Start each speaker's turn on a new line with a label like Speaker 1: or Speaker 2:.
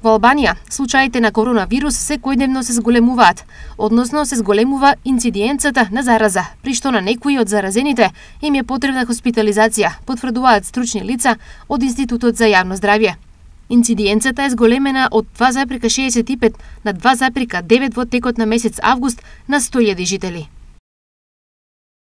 Speaker 1: Во Албанија, случаите на коронавирус секојдневно се зголемуваат, односно се зголемува инцидиенцата на зараза, при што на некои од заразените им е потребна хоспитализација, потврдуваат стручни лица од Институтот за јавно здравје. Инцидиенцата е зголемена од 2,65 на 2,9 во текот на месец август на 100.000 жители.